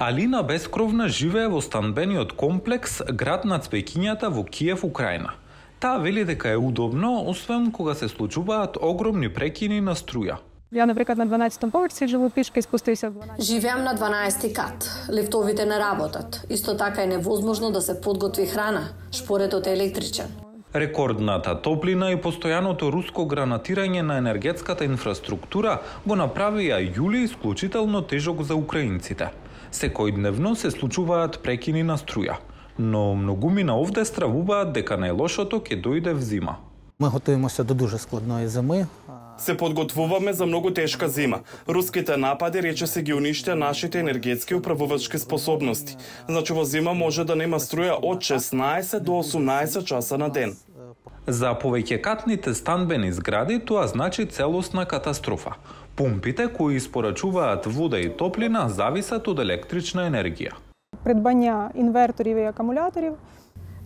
Алина Бескровна живее во станбениот комплекс град на цвеќињата во Киев, Украина. Таа вели дека е удобно, освен кога се случуваат огромни прекини на струја. Я, например, на 12-том поверсі живу пішка и спустився в 12. Живеам на 12-ти кат. Лифтовите не работат. Исто така е невозможно да се подготви храна. Шпоретот е електричен. Рекордната топлина и постојаното руско гранатирање на енергетската инфраструктура го направија јули исклучително тежок за украинците. Секојдневно се случуваат прекини на струја, но многумина овде стравуваат дека најлошото ќе дојде в зима. Ми готуємося до дуже складної зими. Се подготвуваме за многу тешка зима. Руските напади речиси ги уништија нашите енергетски управувачки способности. Значи во зима може да нема струја од 16 до 18 часа на ден. За повеќекатните станбени згради тоа значи целосна катастрофа. Пумпите кои испорачуваат вода и топлина зависат од електрична енергија. Придбання інверторів і акумуляторів.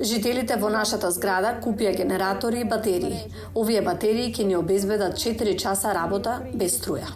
Жителите во нашата зграда купија генератори и батерии. Овие батерии ќе ни обезбедат 4 часа работа без струја.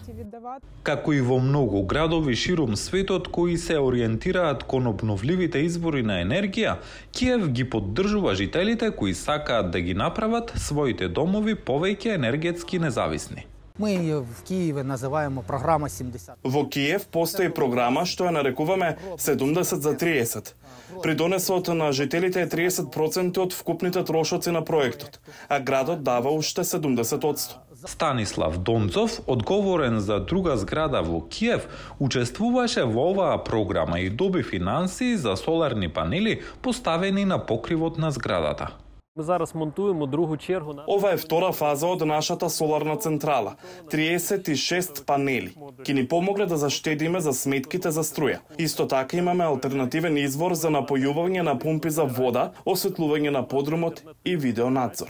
Како и во многу градови ширум светот кои се ориентираат кон обновливите извори на енергија, Киев ги поддржува жителите кои сакаат да ги направат своите домови повеќе енергетски независни. Ми в Києві називаємо програма 70. Во Киев постои програма што ја нарекуваме 70 за 30. Придонесот на жителите е 30% од вкупните трошоци на проектот, а градот дава уште 70%. Станислав Донцов, одговорен за друга зграда во Киев, учествуваше во оваа програма и доби финансии за соларни панели поставени на покривот на зградата. Ми зараз монтуємо другу чергу. Ова е втора фаза од нашата соларна централа. 36 панели. Ки ни помогле да заштедиме за сметките за струја. Исто така имаме алтернативен извор за напојување на пумпи за вода, осветлување на подрумот и видеонадзор.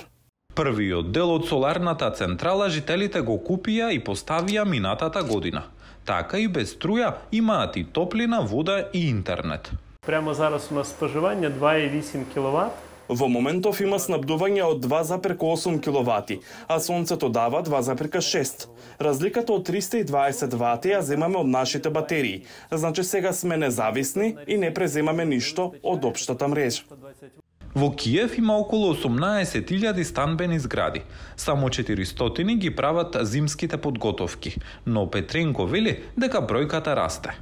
Првиот дел од соларната централа жителите го купија и поставија минатата година. Така и без струја имаат и топлина, вода и интернет. Прямо зараз у нас споживання 2,8 кВт. Во моментов има снабдување од 2,8 киловати, а сонцето дава 2,6. Разликата од 320 вати ја земаме од нашите батерии. Значи сега сме независни и не преземаме ништо од општата мрежа. Во Киев има околу 18.000 станбени згради. Само 400 ги прават зимските подготовки, но Петренко вели дека бројката расте.